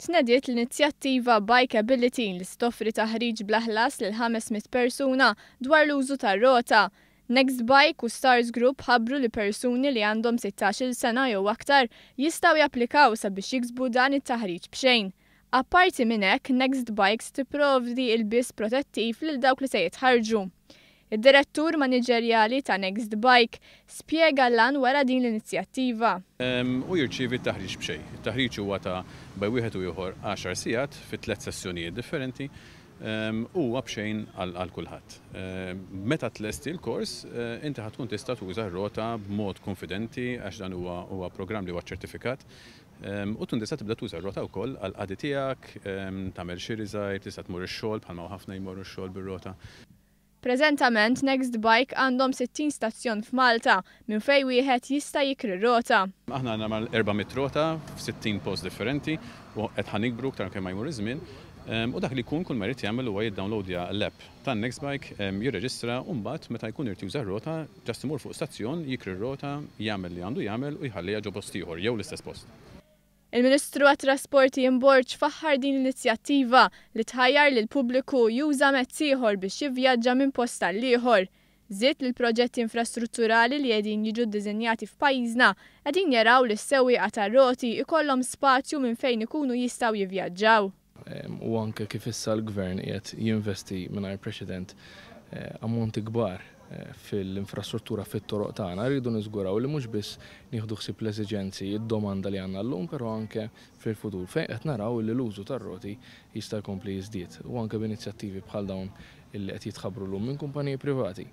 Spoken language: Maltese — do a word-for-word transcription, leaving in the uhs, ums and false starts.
Tnediet l-inizjattiva Bikeability li toffri taħriġ bla ħlas lil ħames mitt persuna dwar l-użu tar-rota. Next Bike u Stars Group ħabbru li persuni li għandhom sittax-il sena jew aktar jistgħu japplikaw sabiex jiksbu dan it-taħriġ b'xejn. Apparti minn hekk, Next Bikes tipprovdi ilbies protettiv lil dawk li se jitħarġu. Id-direttur maniġerjali ta' Next Bike spjega l-għan wara din l-inizjattiva. U jirċievi t-taħriġ b'xejn. It-taħriġ huwa ta' bejn wieħed u ieħor għaxar sigħat fi tliet sessjonijiet differenti u huwa b'xejn għal kulħadd. Meta tlesti l-kors, eh, inti ħa tkun tista' tuża r-rota b'mod konfidenti, għax dan huwa huwa programm li huwa ċertifikat. U tkun tista' tibda tuża r-rota wkoll għal qadi tiegħek, tagħmel xiri żgħir, tista' tmur ix-xogħol, bħalma ħafna jmorru x-xogħol bir-rota. Preżentament, Next Bike għandhom sittin stazzjon f'Malta minn fejn wieħed jista' jikri rota. Aħna għandna mal-erba' mitt rota f'sittin post differenti u qed ħa nikbru aktar kemm ma jmur iż-żmien. U dak li jkun kull ma jrid jagħmel huwa jiddownloadja l-app ta' Next Bike, jirreġistra, u mbagħad meta jkun irid juża r-rota, just imur fuq stazzjon, jikri r-rota, jagħmel li għandu jagħmel u jħalliha ġo post ieħor jew l-istess post. Il-Ministru għat-Trasport Ian Borg faħħar din l-inizjattiva li tħajjar lil pubbliku juża mezz ieħor biex jivvjaġġa minn post għal ieħor. Żied li l-proġetti infrastrutturali li qegħdin jiġu ddisinjati f'pajjiżna qegħdin jaraw li s-sewwieqa tar-roti ikollhom spazju minn fejn ikunu jistgħu jivvjaġġaw. U anke kif issa l-gvern qiegħed jinvesti mingħajr preċedent eh, ammonti kbar eh, fil-infrastruttura fit-toroq tagħna, rridu niżguraw li mhux biss nieħdu ħsieb l-eżiġenzi, id-domanda li għandna llum, però anke fil-futur fejn qed naraw li l-użu tar-roti jista' jkompli jiżdied u anke b'inizjattivi bħal dawn illi qed jitħabbru llum minn kumpaniji privati.